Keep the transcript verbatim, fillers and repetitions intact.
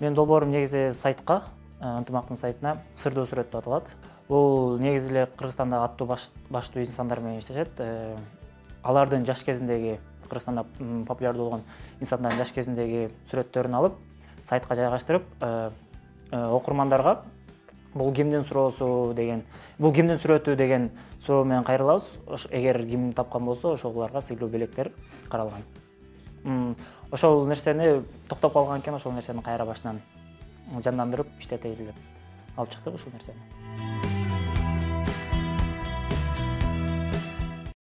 Менин долбоорум негизи сайтка, ынтымактын сайтына сырдоо сүрөт деп аталат. Бул негизи эле Кыргызстандагы аттуу баштуу инсандар менен иштешет. Алардын жаш кезиндеги, Кыргызстанда популярдуу болгон инсандардын жаш кезиндеги сүрөттөрүн алып, сайтка жайгаштырып, окурмандарга бул кимдин суроосу деген, бул кимдин сүрөтү деген суроо менен кайрылабыз. Эгер ким тапкан болсо, ошолорго сыйлуу белектер каралган. Ошол нерсени токтоп калган экен, ошол нерсени кайра башынан жандандырып иштетели деп алып чыктык ушул нерсени.